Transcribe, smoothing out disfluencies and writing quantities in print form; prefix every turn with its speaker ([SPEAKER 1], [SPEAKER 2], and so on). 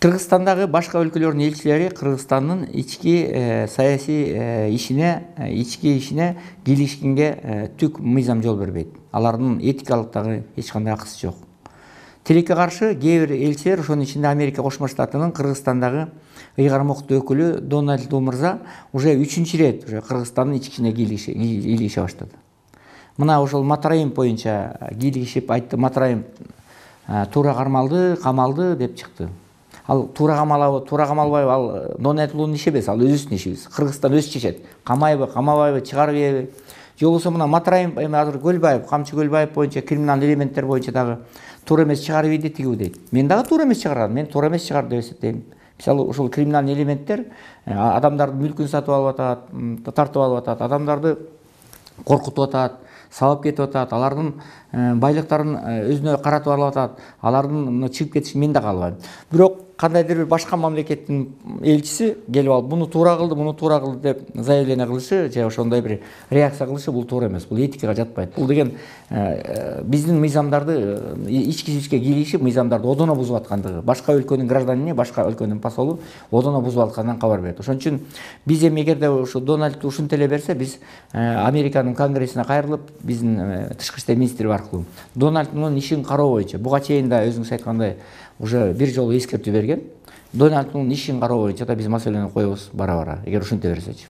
[SPEAKER 1] Кыргызстандагы башка өлкөлөрдүн элчилери Кыргызстандын ички саясий ишине кийлигишкенге түк мыйзам жол бербейт. Алардын этикалык дагы эч кандай акысы жок. Тилекке каршы кээ бир элчилер, ошонун ичинде Америка Кошмо Штатынын Кыргызстандагы ыйгармоктуу өкүлү Дональд Ту мырза уже 3-чү ирет уже Кыргызстандын ички ишине кийлигише баштады. Мына ошол Матраим боюнча кийлигишип айтты, Матраим туура кармалды, камалды деп чыкты. Ал туура камалбайбы, ал Дональд Тунун иши эмес, ал өзүбүздүн ишибиз. Кыргызстан өзү чечет. Камайбы, камабайбы, чыгарып ийеби? Же болбосо мына Матраим азыр Көлбаев, Камчы Көлбаев боюнча криминалдык элементтер боюнча дагы туура эмес чыгарып ийди тигиби дейт. Мен дагы туура эмес чыгарам, мен туура эмес чыгарды деп эсептейм. Мисалы ушул криминалдык элементтер адамдардын мүлкүн сатып алып атат, тартып алып атат, адамдарды коркутуп атат, сабап кетип атат, алардын байлыктарын өзүнө каратып алып атат, алардын чыгып кетишин мен да каалабайм. Бирок кандайдыр бир башка мамлекеттин элчиси келип алып муну туура кылды деп заявление кылышы же ошондой бир реакция кылышы бул туура эмес, бул этикага жатпайт. Бул деген биздин мыйзамдарды ички-ичке кийлигишип мыйзамдарды одоно бузуп аткандыгы, башка өлкөнүн гражданине, башка өлкөнүн посолу одоно бузуп атканынан кабар берет. Ошон үчүн биз эми эгерде ушу Дональд ушинтип эле берсе, биз Американын конгрессине кайрылып, биздин тышкы иштер министри аркылуу Дональддын ишин кароо боюнча, буга чейин да өзүңүз айткандай уже бир жолу эскертүү берген. Дональддын ишин кароо боюнча да биз маселени коебуз бара-бара, эгер ушинте берсечи.